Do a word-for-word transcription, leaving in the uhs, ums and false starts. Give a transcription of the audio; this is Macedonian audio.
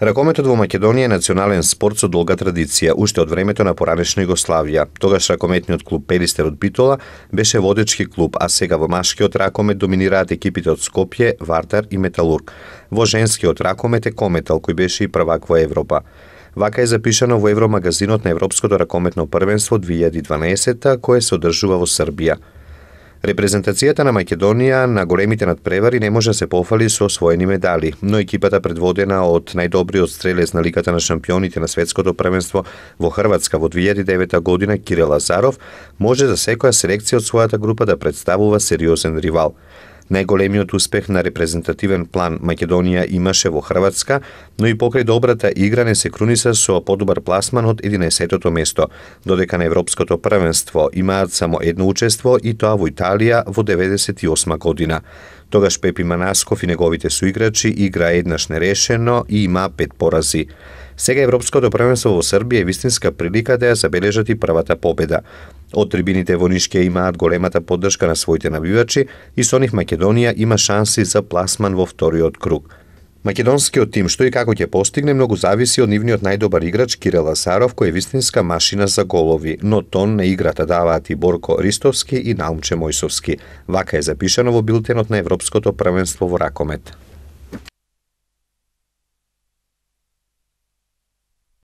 Ракометот во Македонија е национален спорт со долга традиција, уште од времето на поранешна Југославија. Тогаш ракометниот клуб Перистер од Битола беше водечки клуб, а сега во машкиот ракомет доминираат екипите од Скопје, Вардар и Металург. Во женскиот ракомет е Кометал, кој беше и првак во Европа. Вака е запишано во Евромагазинот на Европското ракометно првенство две илјади и дванаесетта, кое се одржува во Србија. Репрезентацијата на Македонија на големите надпревари не може да се пофали со освоени медали, но екипата предводена од најдобриот стрелец на Лигата на шампионите на светското првенство во Хрватска во две илјади и девета година Кирил Лазаров може за секоја селекција од својата група да представува сериозен ривал. Најголемиот успех на репрезентативен план Македонија имаше во Хрватска, но и покрај добрата игра не се круниса со подобар пласман од единаесеттото место, додека на Европското првенство имаат само едно учество и тоа во Италија во деветдесет и осма година. Тогаш Пепи Манасков и неговите суиграчи играа еднаш нерешено и имаа пет порази. Сега Европското првенство во Србија е вистинска прилика да ја забележат и првата победа. Од трибините во Нишке имаат големата поддршка на своите навивачи и со нив Македонија има шанси за пласман во вториот круг. Македонскиот тим што и како ќе постигне многу зависи од нивниот најдобар играч Кирил Лазаров, кој е вистинска машина за голови, но тон на играта даваат и Борко Ристовски и Наумче Мојсовски. Вака е запишано во билтенот на Европското првенство во ракомет.